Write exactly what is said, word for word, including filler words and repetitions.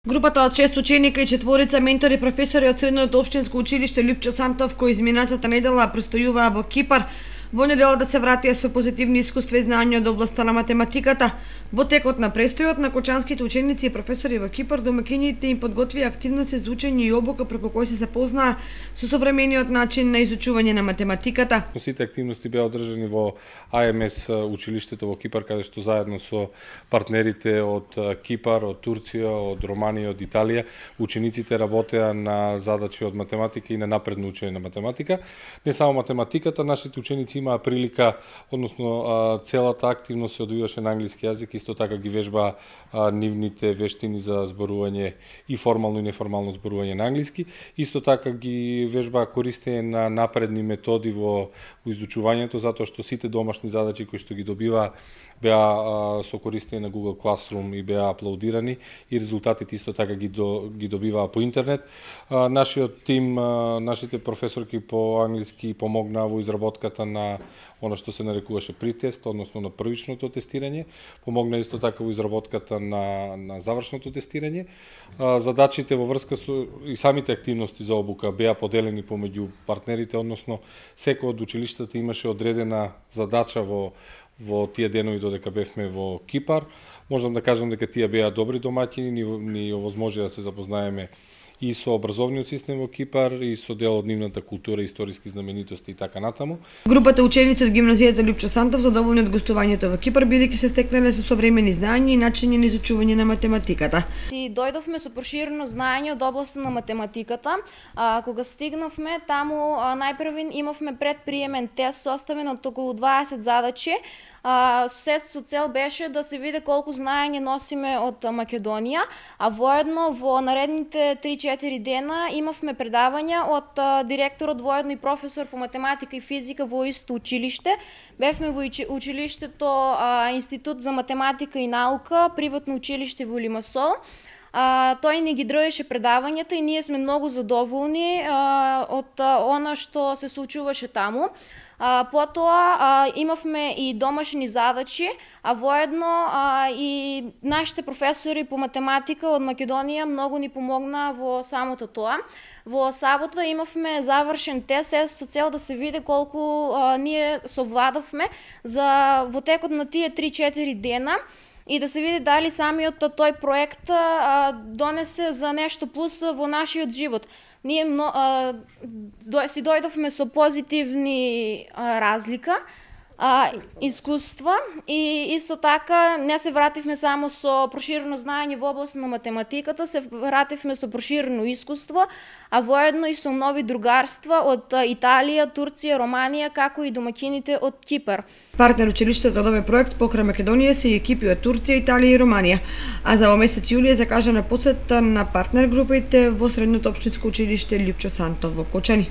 Групата од шест ученика и четворица ментори професори од Средното општинско училиште Лјупчо Сантов, кои изминатата недела престојуваа во Кипар, во недела да се вратија со позитивни искуства и знаења од областа на математиката. Во текот на престојот на кочанските ученици и професори во Кипар, домаќините им подготвија активности за учење и обука преку кои се запознаа со современиот начин на изучување на математиката. Сите активности беа одржани во А М С училиштето во Кипар, каде што заедно со партнерите од Кипар, од Турција, од Романија, од Италија, учениците работеа на задачи од математика и на напредно учење на математика. Не само математиката, нашите ученици имаа прилика, односно целата активност се одвиваше на англиски јазик, исто така ги вежбаа нивните вештини за зборување и формално и неформално зборување на англиски, исто така ги вежбаа користење на напредни методи во, во изучувањето, затоа што сите домашни задачи кои што ги добиваа беа со користење на Google Classroom и беа аплаудирани и резултатите исто така ги, до, ги добиваа по интернет. А, нашиот тим, а, нашите професорки по англиски помогнаа во изработката на она што се нарекуваше притест, односно на првичното тестирање, помогна исто така во изработката на, на завршното тестирање. А, задачите во врска со и самите активности за обука беа поделени помеѓу партнерите, односно секој од училиштата имаше одредена задача во во тие денови додека бевме во Кипар. Можам да кажам дека тие беа добри домаќини, ни, ни овозможија да се запознаеме и со образовниот систем во Кипар, и со дел од нивната култура, историски знаменитости и така натаму. Групата ученици од гимназијата Лјупчо Сантов задоволни од гостувањето во Кипар, бидејќи се стекнале со современи знаења и начини на изучување на математиката. И дојдовме со проширено знаење од областа на математиката. А, кога стигнавме таму, најпрвин имавме предприемен тест составен од околу дваесет задачи. Uh, се со цел беше да се види колку знаење носиме од Македонија, а воедно во наредните три-четири дена имавме предавања од uh, директорот воедно и професор по математика и физика во исто училиште. Бевме во училиштето uh, Институт за математика и наука, приватно училиште во Лимасол. Uh, тој ни ги држеше предавањата и ние сме многу задоволни uh, од uh, она што се случуваше таму. Uh, потоа uh, имавме и домашни задачи, а воедно uh, и нашите професори по математика од Македонија многу ни помогна во самото тоа. Во сабота имавме завршен тест со цел да се види колку uh, ние совладавме за во текот на тие три-четири дена и да се види дали самиот тој проект а, донесе за нешто плюс во нашиот живот. Ние мно, а, до, си дојдовме со позитивни а, разлика, а, искуства и исто така не се вративме само со проширено знаење во област на математиката, се вративме со проширено искуство, а воедно и со нови другарства од Италија, Турција, Романија, како и домаќините од Кипар. Партнер училиштето од овој проект покрај Македонија се и екипи од Турција, Италија и Романија, а за во месец јули е закажана посета на партнер групите во Средното општинско училиште Лјупчо Сантов во Кочани.